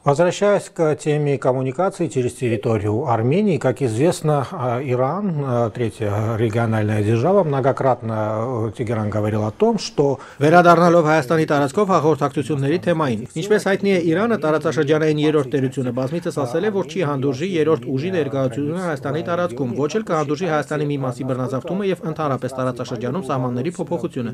Возвращаясь к теме коммуникации через территорию Армении, как известно, Иран, третья региональная держава, многократно Тегеран говорил о том, что... Վերադառնալով Հայաստանի տարածքով հաղորդակցությունների թեմային, ինչպես հայտնի է, Իրանը տարածաշրջանային երրորդ տերությունը բազմիցս ասել է, որ չի հանդուրժի երրորդ ուժի ներկայացությունը Հայաստանի տարածքում, ոչ էլ կհանդուրժի Հայաստանի մի մասի բռնազավթումը եւ ընդհանրապես տարածաշրջանում սահմանների փոփոխությունը։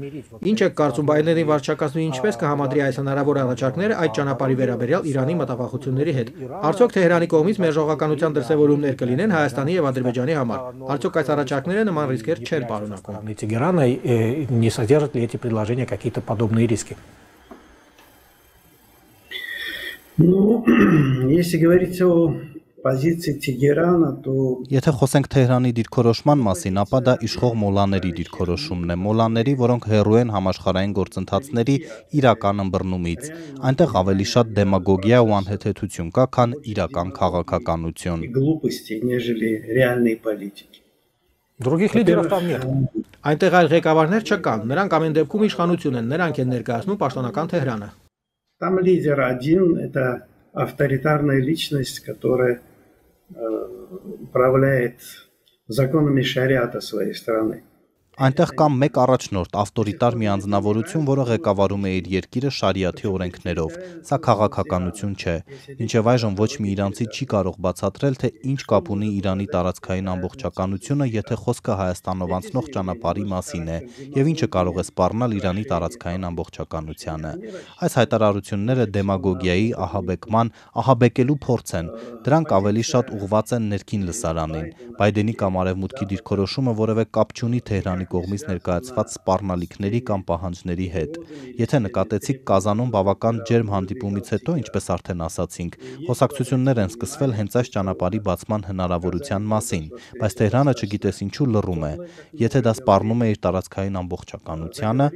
Ինչ է կարծում Բայդենի վարչակազմի ինչպես կհամադրի այս հնարավոր առաջարկները այդ ճանապարհի վերաբերյալ Իրանի մտավախությունների հետ։ Արդյոք Թեհրանի կողմից մերժողականության դրսևորումներ կլինեն Հայաստանի եւ Ադրբեջանի համար։ Արդյոք այս առաջարկները նման ռիսկեր չեն պարունակում։ Тегерана не содержат ли эти предложения какие-то подобные риски? Ну, если говорить о позиции Тегерана, то... Եթե խոսենք Թեհրանի դիրքորոշման մասին, ապա դա իշխող մոլաների դիրքորոշումն է, մոլաների, որոնք հեռու են համաշխարհային գործընթացների իրական ըմբռնումից։ Այնտեղ ավելի շատ դեմագոգիա ու անհեթեթություն կա, քան իրական քաղաքականություն։ Глупости, нежели реальной политики. Других лидеров там нет. Այնտեղ այլ ղեկավարներ չկան, նրանք ամեն դեպքում իշխանություն են, նրանք են ներկայացնում պաշտոնական Թեհրանը։ Там лидер один, это авторитарная личность, которая управляет законами шариата своей страны. Այնտեղ կա մեկ առաջնորդ, ավտորիտար մի անձնավորություն, որը ղեկավարում է իր երկիրը շարիաթի օրենքներով։ Սա քաղաքականություն չէ։ Մինչև այժմ ոչ մի իրանցի չի կարող բացատրել, թե ինչ կապ ունի Իրանի տարածքային ամբողջականությունը, եթե խոսքը Հայաստանով անցնող ճանապարհի մասին է, եւ ինչը կարող է սպառնալ Իրանի տարածքային ամբողջականությանը։ Այս հայտարարությունները դեմագոգիայի, ահաբեկման, ահաբեկելու փորձ են։ Դրանք ավելի շատ ուղղված են ներքին լսարանին։ Բայդենի կամ արևմուտքի դիրքորոշումը որևէ կապ չունի Թեհրանի կողմից ներկայացված սպառնալիքների կամ պահանջների հետ։ Եթե նկատեցիք Կազանում բավական ջերմ հանդիպումից հետո, ինչպես արդեն ասացինք, խոսակցություններ են սկսվել հենց այս ճանապարհի բացման հնարավորության մասին, բայց Թեհրանը չգիտես ինչու լռում է։ Եթե դա սպառնում է իր տարածքային ամբողջականությանը,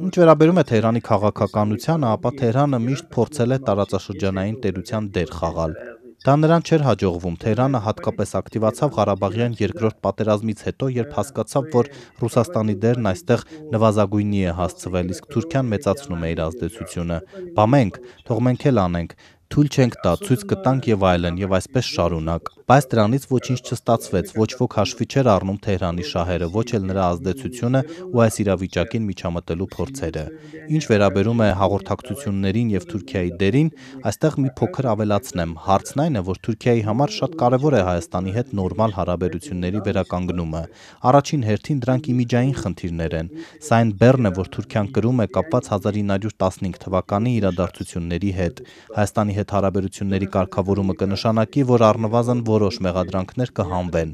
ինչ վերաբերում է Թեհրանի քաղաքականությանը, ապա Թեհրանը միշտ փորձել է տարածաշրջանային տերության դեր խաղալ։ Դա նրան չէր հաջողվում։ Թեհրանը հատկապես ակտիվացավ Ղարաբաղյան երկրորդ պատերազմից հետո, երբ հասկացավ, որ Ռուսաստանի դերն այստեղ նվազագույնի է հասցվել, իսկ Թուրքիան մեծացնում է իր ազդեցությունը։ Բա մենք, թող մենք էլ անենք, թույլ չենք տա, ցույց կտանք եւ այլն, եւ այսպես շարունակ։ Բայց դրանից ոչինչ չստացվեց, ոչ ոք հաշվի չէր առնում Թեհրանի շահերը, ոչ էլ նրա ազդեցությունը ու այս իրավիճակին միջամտելու փորձերը։ Ինչ վերաբերում է հաղորդակցություններին եւ Թուրքիայի դերին, այստեղ մի փոքր ավելացնեմ։ Հարցն այն է, որ Թուրքիայի համար շատ կարեւոր է Հայաստանի հետ նորմալ հարաբերությունների վերականգնումը։ Առաջին հերթին դրանք իմիջային խնդիրներ են։ Սա այն բեռն է, որ Թուրքիան կրում է կապված 1915 թվականի իրադարձությունների հետ։ Հայաստանի հետ հարաբերությունների կարգավորումը կնշանակի, որ առնվազն որոշ մեղադրանքներ կհանվեն։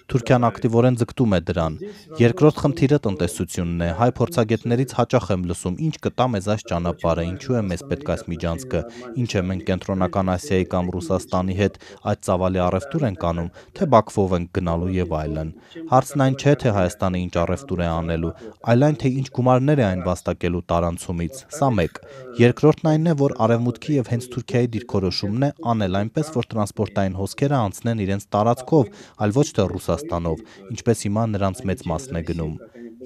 Թուրքիան ակտիվորեն ձգտում է դրան։ Երկրորդ խնդիրը տնտեսությունն է։ Հայ փորձագետներից հաճախ եմ լսում, ինչ կտա մեզ այս ճանապարհը, ինչու է մեզ պետք այս միջանցքը, ինչ է մենք Կենտրոնական Ասիայի կամ Ռուսաստանի հետ այդ ծավալի առևտուր ենք անում, թե Բաքվով ենք գնալու եւ այլն։ Հարցն այն չէ, թե Հայաստանը ինչ առևտուր է անելու, այլ այն, թե ինչ գումարներ է այն վաստակելու տարանցումից։ Սա մեկ։ Երկրորդն այն է, որ արևմուտքի եւ հենց Թուրքիայի դիրքորոշումն է անել այնպես, որ տրանսպորտային հոսքերը անցնեն իրենց տարածքով, այլ ոչ թե Ռուսաստանով, ինչպես հիմա նրանց մեծ մասն է գնում։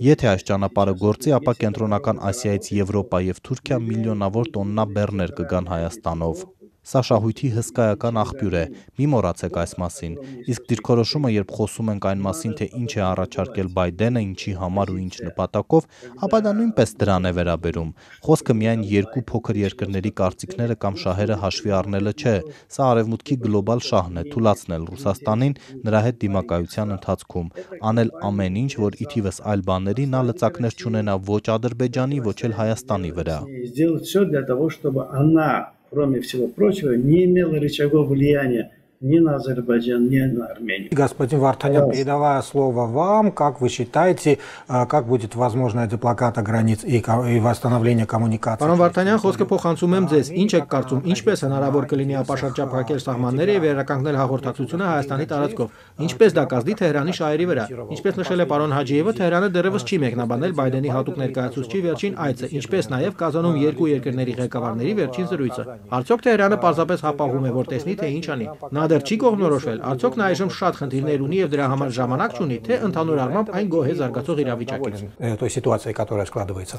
Եթե այս ճանապարհը գործի, ապա Կենտրոնական Ասիայից Եվրոպա եւ Թուրքիա միլիոնավոր տոննա բեռներ կգան Հայաստանով։ Սա շահույթի հսկայական աղբյուր է, մի մոռացեք այս մասին։ Իսկ դիրքորոշումը, երբ խոսում ենք այն մասին, թե ինչ է առաջարկել Բայդենը, ինչի համար ու ինչ նպատակով, ապա դա նույնպես դրան է վերաբերում։ Խոսքը միայն երկու փոքր երկրների կարծիքները կամ շահերը հաշվի առնելը չէ։ Սա արևմուտքի գլոբալ շահն է՝ թուլացնել Ռուսաստանին նրա հետ դիմակայության ընթացքում, անել ամեն ինչ, որ ի թիվս այլ բաների նա լծակներ չունենա ոչ Ադրբեջանի, ոչ էլ Հայաստանի վրա։ Сделать все для того, чтобы она, кроме всего прочего, не имела рычагов влияния ни на Азербайджан, ни на Армению. Господин Вартанян, передавая слово вам, как вы считаете, как будет возможная деблокада границ и восстановление коммуникации? Պարոն Վարդանյան, խոսքը փոխանցում եմ ձեզ։ Ինչ եք կարծում, ինչպես հնարավոր կլինի ապաշրջապ փակել սահմանները եւ վերականգնել հաղորդակցությունը Հայաստանի տարածքով։ Ինչպես դա կազդի Թեհրանի շահերի վրա։ Ինչպես նշել է պարոն Հաջիևը, Թեհրանը դեռևս չի մեկնաբանել Բայդենի հատուկ ներկայացուցչի վերջին այցը, ինչպես նաեւ Կազանում երկու երկրների ղեկավարների վերջին զրույցը։ Արդյոք Թեհրանը պարզապես հապաղում է, որ տեսնի, թե ինչ անի։ Նա դեռ չի կողմնորոշվել, արդյոք նա այժմ շատ խնդիրներ ունի եւ դրա համար ժամանակ չունի, թե ընդհանուր առմամբ այն գոհ է զարգացող իրավիճակից։ Той ситуации, которая складывается.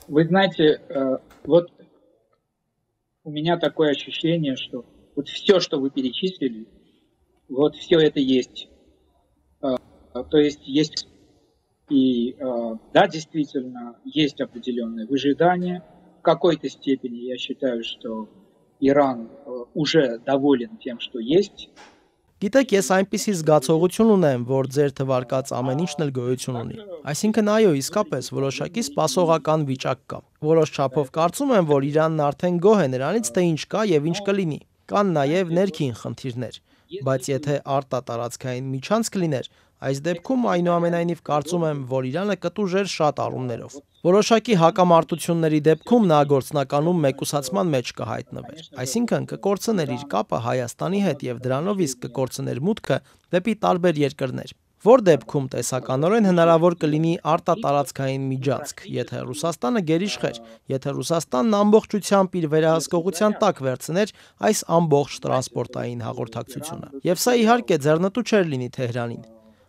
Вы знаете, вот у меня такое ощущение, что вот все, что вы перечислили, вот все это есть. То есть есть и, да, действительно, есть определенные выжидания. В какой-то степени я считаю, что Иран уже доволен тем, что есть. Գիտեք, ես այնպիսի զգացողություն ունեմ, որ ձեր թվարկած ամեն ինչն էլ գոյություն ունի։ Այսինքն այո, իսկապես որոշակի սպասողական վիճակ կա։ Որոշ չափով կարծում եմ, որ Իրանն արդեն գոհ է նրանից, թե ինչ կա եւ ինչ կլինի։ Կան նաեւ ներքին խնդիրներ, բայց եթե արտատարածքային միջանցք լիներ, այս դեպքում այնուամենայնիվ կարծում եմ, որ Իրանը կտուժեր շատ առումներով։ Որոշակի հակամարտությունների դեպքում նա գործնականում մեկուսացման մեջ կհայտնվեր։ Այսինքն կկորցներ իր կապը Հայաստանի հետ եւ դրանով իսկ կկորցներ մուտքը դեպի տարբեր երկրներ։ Որ դեպքում տեսականորեն հնարավոր կլինի արտատարածքային միջանցք, եթե Ռուսաստանը գերիշխեր, եթե Ռուսաստանն ամբողջությամբ իր վերահսկողության տակ վերցներ այս ամբողջ տրանսպորտային հաղորդակցությունը։ Եվ սա իհարկե ձեռնտու չէր լինի Թեհրանին։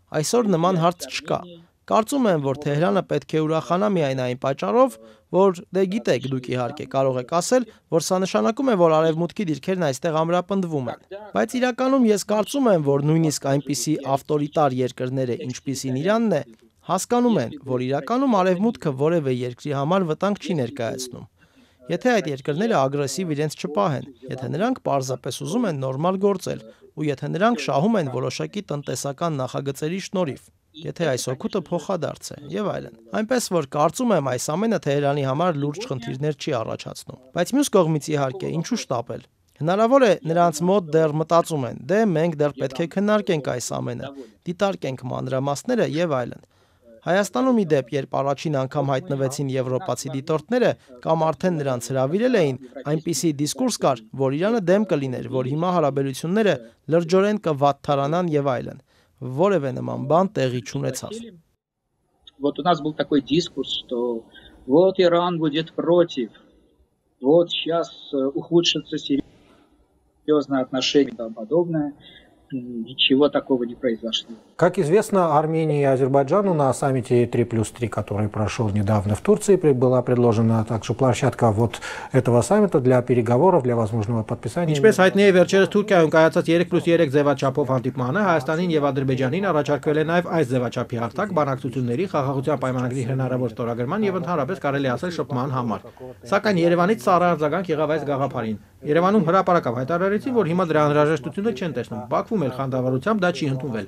Այսօր նման հարց չկա։ Կարծում եմ, որ Թեհրանը պետք է ուրախանա միայն այն պատճառով, որ դե գիտեք, դուք իհարկե կարող եք ասել, որ սա նշանակում է, որ արևմուտքի դիրքերն այստեղ ամրապնդվում են։ Բայց իրականում ես կարծում եմ, որ նույնիսկ այնպիսի ավտորիտար երկրները, ինչպիսին Իրանն է, հասկանում են, որ իրականում արևմուտքը որևէ երկրի համար վտանգ չի ներկայացնում։ Եթե այդ երկրները ագրեսիվ իրենց չպահեն, եթե նրանք պարզապես ուզում են նորմալ գործել, ու եթե նրանք շահում են որոշակի տնտեսական նախագծերի շնորհիվ, եթե այս օգուտը փոխադարձ է եւ այլն։ Այնպես որ կարծում եմ այս ամենը Թեհրանի համար լուրջ խնդիրներ չի առաջացնում։ Բայց մյուս կողմից իհարկե ինչու շտապել։ Հնարավոր է նրանց մոտ դեռ մտածում են, դե մենք դեռ պետք է քննարկենք այս ամենը, դիտարկենք մանրամասները եւ այլն։ Հայաստանում ի դեպ, երբ առաջին անգամ հայտնվեցին եվրոպացի դիտորդները կամ արդեն նրանց հրավիրել էին, այնպիսի դիսկուրս կար, որ Իրանը դեմ կլիներ, որ հիմա հարաբերությունները լրջորեն կվատթարանան եւ այլն։ Որևէ նման բան տեղի չունեցավ։ Вот у нас был такой дискурс, что вот Иран будет против, вот сейчас ухудшатся серьезные отношения и тому подобное. Ничего такого не произошло. Как известно, Армении и Азербайджану на саммите 3+3, который прошел недавно в Турции, была предложена также площадка вот этого саммита для переговоров, для возможного подписания. Ինչպես հայտնի է, վերջերս Թուրքիայում կայացած 3+3 ձևաչափով հանդիպմանը Հայաստանին եւ Ադրբեջանին առաջարկվել է նաեւ այս ձևաչափի հարթակ բանակցությունների խաղաղության պայմանագրի հնարավոր ստորագրման եւ ընդհանրապես կարելի ասել շփման համար։ Սակայն Երևանից սառը արձագանք եղավ այս գաղափարին։ Երևանում հրապարակավ հայտարարեցին, որ հիմա դրա անհրաժեշտությունը չեն տեսնում։ Բաքվում էլ խանդավառությամբ դա չի ընդունվել։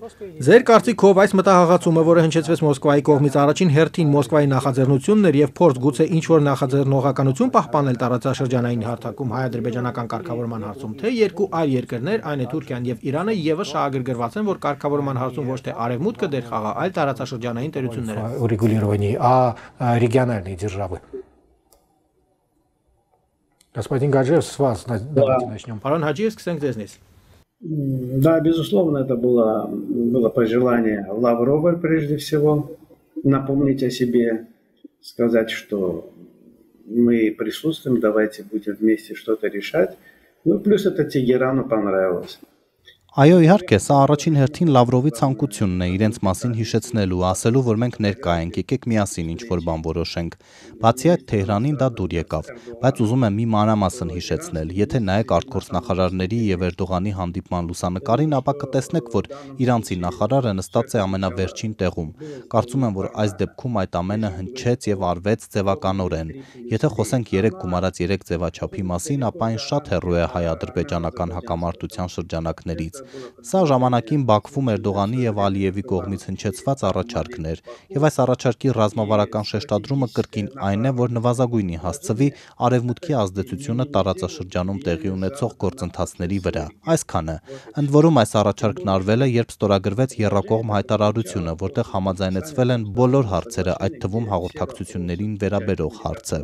Ձեր կարծիքով այս մտահղացումը, որը հնչեցվեց Մոսկվայի կողմից, առաջին հերթին Մոսկվայի նախաձեռնությունն էր եւ փորձ գուցե ինչ-որ նախաձեռնողականություն պահպանել տարածաշրջանային հարթակում հայ-ադրբեջանական կարգավորման հարցում, թե երկու այլ երկրներ, այն է Թուրքիան եւ Իրանը, եւս շահագրգռված են, որ կարգավորման հարցում ոչ թե արևմուտքը դեր խաղա, այլ տարածաշրջանային տերությունները։ Урегулировании, а региональные державы. Господин Гаджиев, с вас давайте начнем. Պարոն Հաջիև, սկսենք ձեզնից։ Да, безусловно, это было пожелание Лаврова прежде всего напомнить о себе, сказать, что мы присутствуем, давайте будем вместе что-то решать. Ну, плюс это Тегерану понравилось. Այո, իհարկե, սա առաջին հերթին Լավրովի ցանկությունն է իրենց մասին հիշեցնելու, ասելու, որ մենք ներկա ենք, եկեք միասին ինչ-որ բան որոշենք։ Բացի այդ, Թեհրանին դա դուր եկավ, բայց ուզում եմ մի մանրամասն հիշեցնել։ Եթե նայեք արտգործնախարարների եւ Էրդողանի հանդիպման լուսանկարին, ապա կտեսնեք, որ իրանցի նախարարը նստած է ամենավերջին տեղում։ Կարծում եմ, որ այս դեպքում այդ ամենը հնչեց եւ արվեց ձևականորեն։ Եթե խոսենք 3 գումարած 3 ձևաչափի մասին, ապա այն շատ հեռու է հայ-ադրբեջանական հակամարտության շրջանակներից։ Սա ժամանակին Բաքվում Էրդողանի եւ Ալիևի կողմից հնչեցված առաջարկն էր, եւ այս առաջարկի ռազմավարական շեշտադրումը կրկին այն է, որ նվազագույնի հասցվի արևմուտքի ազդեցությունը տարածաշրջանում տեղի ունեցող գործընթացների վրա։ Այսքանը։ Ընդ որում այս առաջարկն արվել է, երբ ստորագրվեց Եռակողմ հայտարարությունը, որտեղ համաձայնեցվել են բոլոր հարցերը, այդ թվում հաղորդակցություններին վերաբերող հարցը։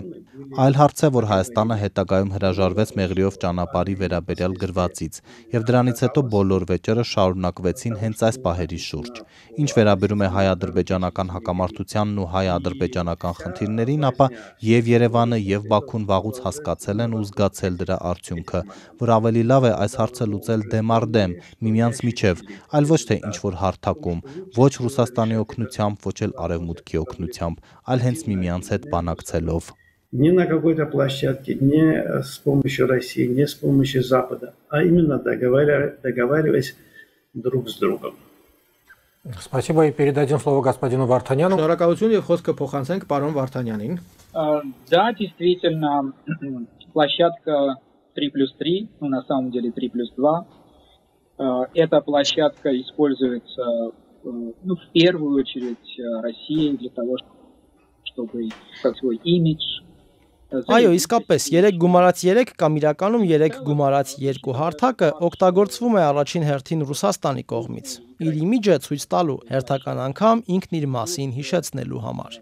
Այլ հարց է, որ Հայաստանը հետագայում հրաժարվեց Մեղրիով ճանապարհի վերաբերյալ գրվածից, եւ դրանից հետո բոլոր վեճերը շարունակվեցին հենց այս պահերի շուրջ։ Ինչ վերաբերում է հայ-ադրբեջանական հակամարտությանն ու հայ-ադրբեջանական խնդիրներին, ապա եւ Երևանը եւ Բաքուն վաղուց հասկացել են ու զգացել դրա արդյունքը, որ ավելի լավ է այս հարցը լուծել դեմ առ դեմ, միմյանց միջև, այլ ոչ թե ինչ-որ հարթակում, ոչ Ռուսաստանի օգնությամբ, ոչ էլ Արևմուտքի օգնությամբ, այլ հենց միմյանց հետ բանակցելով։ Не на какой-то площадке, не с помощью России, не с помощью Запада, а именно договариваясь друг с другом. Спасибо, и передадим слово господину Вартаняну. Շնորհակալություն եւ խոսքը փոխանցենք պարոն Վարդանյանին։ Да, действительно, площадка 3+3, ну на самом деле 3+2, эта площадка используется, ну, в первую очередь Россией для того, чтобы как свой имидж. Այո, իսկապես 3 գումարած 3 կամ իրականում 3 գումարած 2 հարթակը օգտագործվում է առաջին հերթին Ռուսաստանի կողմից։ Իր իմիջը ցույց տալու, հերթական անգամ ինքն իր մասին հիշեցնելու համար։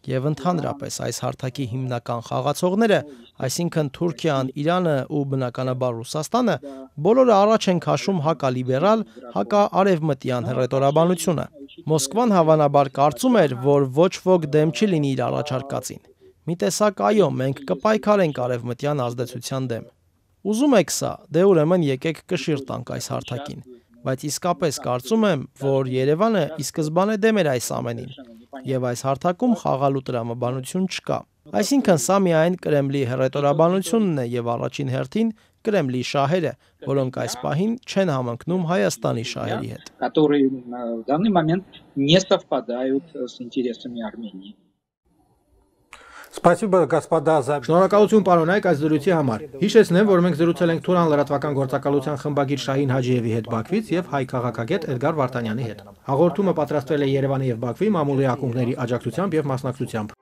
Եվ ընդհանրապես այս հարթակի հիմնական խաղացողները, այսինքն Թուրքիան, Իրանը ու բնականաբար Ռուսաստանը, բոլորը առաջ են քաշում հակալիբերալ, հակաարևմտյան հռետորաբանությունը։ Մոսկվան հավանաբար կարծում էր, որ ոչ ոք դեմ չի լինի իր առաջարկածին։ Մի տեսակ այո, մենք կպայքարենք արևմտյան ազդեցության դեմ։ Ուզում եք սա, դե ուրեմն եկեք կշիռ տանք այս հարթակին, բայց իսկապես կարծում եմ, որ Երևանը ի սկզբանե դեմ էր այս ամենին, եւ այս հարթակում խաղալու տրամաբանություն չկա։ Այսինքն սա միայն Կրեմլի հռետորաբանությունն է եւ առաջին հերթին Կրեմլի շահերը, որոնք այս պահին չեն համընկնում Հայաստանի շահերի հետ։ Которые в данный момент не совпадают с интересами Армении. Спасибо, господа, за... Շնորհակալություն պարոնայք այս զրույցի համար։ Հիշեցնեմ, որ մենք զրուցել ենք Թուրան լրատվական գործակալության խմբագիր Շահին Հաջիևի հետ Բաքվից եւ հայ քաղաքագետ Էդգար Վարդանյանի հետ։ Հաղորդումը պատրաստվել է Երևանի եւ Բաքվի մամուլի ակումբների աջակցությամբ եւ մասնակցությամբ։